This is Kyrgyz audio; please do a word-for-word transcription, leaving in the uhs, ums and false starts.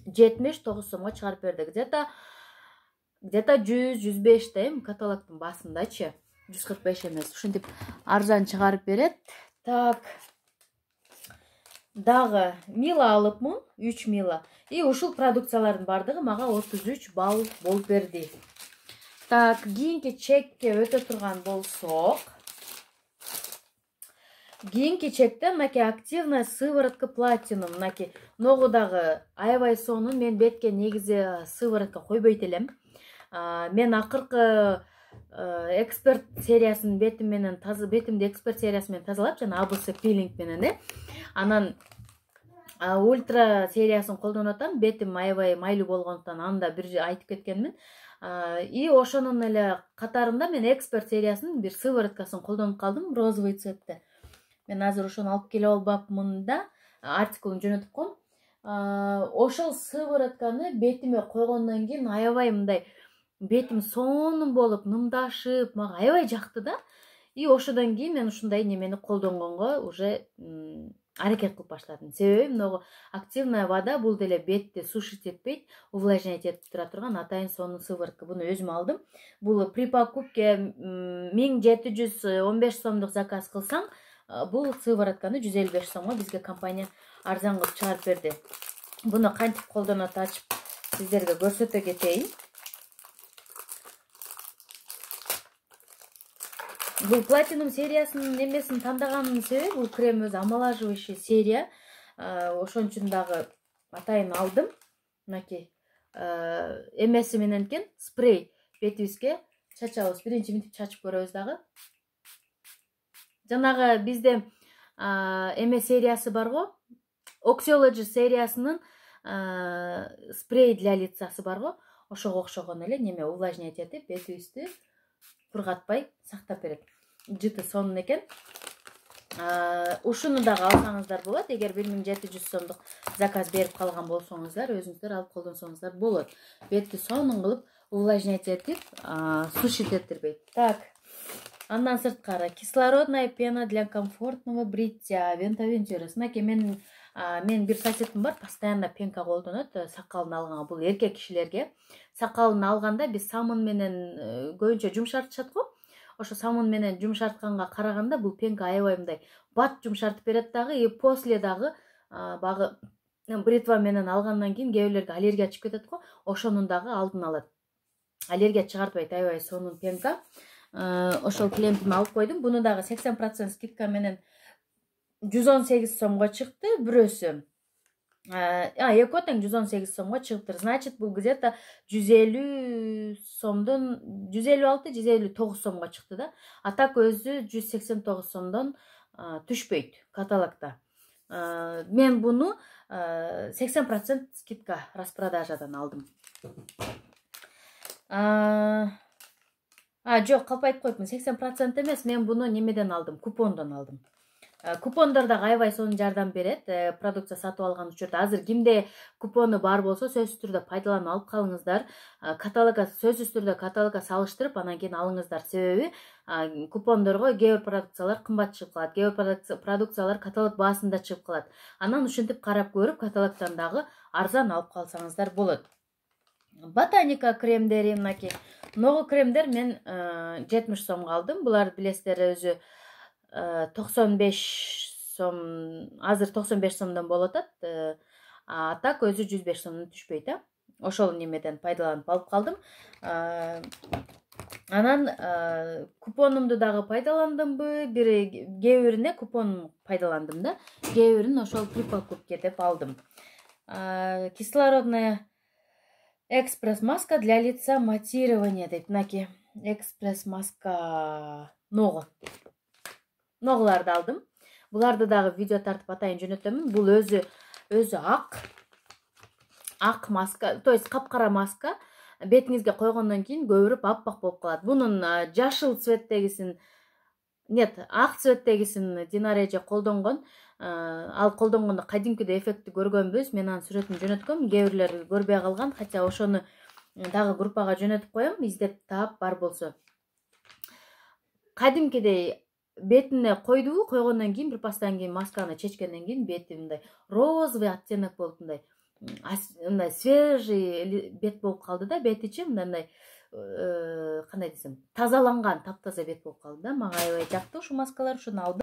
жетимиш тогуз сомго чыгарып берди. Где-то где-то жүз жүз беш да эми каталогдун басындачы. жүз кырк беш эмес. Ушинтип арзан чыгарып берет. Так. Дагы мила алыпмын, үч мила. И ушул продукциялардын бардыгы мага отуз үч балл болуп берди. Так, кийинки чекке өтө турган болсок, кийинки чекте мынакей активная сыворотка платинум. Мынакей ногудагы аябай сонун мен бетке негизи сыворотка койбойт элем. Мен акыркы эксперт сериясынын бетим менен таза бетимди эксперт сериясы менен тазалап, жана эй би си пилинг менен э. Анан ультра сериясын колдонуп атам. Бетим аябай майлуу болгондуктан аны да бир айтып кеткенмин. И ошонун эле катарында мен эксперт сериясынын бир сывороткасын колдонуп калдым, розовый цветте. Мен азыр ошону алып келип албапмын да, артикулун жөнөтүп коем. Ошол сыворотканы бетиме койгондон кийин аябай мындай бетим сонун болуп, нымдашып, мага аябай жакты да. И ошодон кийин мен ушундай немени колдонгонго уже аракет кылып баштадым. Себеби могу активная вода бул деле бетти сушить этпейт, увлажнять этип тура турган атайын сонун сыворотка. Буну өзүм алдым. Бул при покупке миң жети жүз он беш сомдук заказ кылсаң, бул сыворотканы жүз элүү беш сомго бизге компания арзан кылып чыгарып берди. Буну кантип колдонот ачып сиздерге көрсөтө кетейин. Бул платинум сериясынын немесин тандаганымдын себеби бул крем өзү омолаживающий серия. Ошон үчүн дагы атайын алдым. Мынакей эмеси менен экен спрей бетибизге чачабыз. Биринчи минтип чачып көрөбүз дагы. Жанагы бизде эме сериясы барго, Oxyology сериясынын спрей для лицасы барго, ошого окшогон эле неме увлажнять этип бетибизди кургатпай сактап берет. Жыты сонун экен. Ушуну дагы алсаңыздар болот. Эгер бир миң жети жүз сомдук заказ берип калган болсоңуздар, өзүңүздөр алып колдонсоңуздар болот. Бетти сонун кылып увлажнять этип, сушить этирбейт. Так. Андан сырткары кислородная пена для комфортного бритья Ventaventuras. Мынакей мен мен бир соседим бар, постоянно пенка колдонот сакалын алганга. Бул эркек кишилерге. Сакалын алганда биз самын менен көбүнчө жумшартышат го. Ошо самын менен жумшартканга караганда бул пенка аябай мындай бат жумшартып берет дагы, и после дагы багы бритва менен алгандан кийин кээ бирлерге аллергия чыгып кетет го. Ошонун дагы алдын алат. Аллергия чыгартпайт, аябай сонун пенка. Ошол клемпими алып койдум. Буну дагы сексен процент скидка менен жүз он сегиз сомго чыкты бирөөсү. А, эки тең жүз он сегиз сомго чыгыптыр. Значит, бул где-то жүз элүү сомдон жүз элүү алты жүз элүү тогуз сомго чыкты да. А так өзү жүз сексен тогуз сомдон түшпөйт каталогда. Мен буну сексен процент скидка распродажадан алдым. А, жок, калп айтып коюпмун. сексен процент эмес, мен буну немеден алдым, купондон алдым. Купондор да аябай сонун жардам берет. Продукция сатып алган учурда азыр кимде купону бар болсо, сөзсүз түрдө пайдаланып алып калыңыздар. Каталогга сөзсүз түрдө каталогга салыштырып, анан кийин алыңыздар. Себеби купондорго кээ бир продукциялар кымбат чыгып калат, кээ бир продукциялар каталог баасында чыгып калат. Анан ушинтип карап көрүп, каталогдон дагы арзан алып калсаңыздар болот. Ботаника кремдери мынакей. Ногу кремдер мен жетимиш сомго алдым. Булар билесиздер өзү токсон беш сом, азыр токсон беш сомдон болуп атат. А так өзү жүз беш сомдон түшпөйт, а. Ошол немеден пайдаланып алып калдым. Анан купонумду дагы пайдаландымбы? Бир кээ бирине купон пайдаландым да. Кээ бирин ошол при покупке деп алдым. Кислородная экспресс маска для лица матирования дейт. Мынакей экспресс маска ногу. Ногуларды алдым. Буларды дагы видео тартып атайын жөнөтөмүн. Бул өзү өзү ак. Ак маска, то есть капкара маска. Бетиңизге койгондон кийин көбүрөп аппак болуп калат. Бунун жашыл цветтегисин, нет, ак цветтегисин Динара эже колдонгон. Ал колдонгондо кадимкидей эффектти көргөнбүз. Мен анын сүрөтүн жөнөткөм. Кээ бирлер көрбөй калган, хотя ошону дагы группага жөнөтүп коем, издеп таап бар болсо. Кадимкидей бетине койду, койгондон кийин бир пастан кийин масканы чечкенден кийин бети мындай розовый оттенок болуп мындай мындай свежий бет болуп калды да, бетичи мындай кандай десем, тазаланган, таптаза бет болуп калды да. Мага аябай жакты ушу маскалар, ушуну алдым.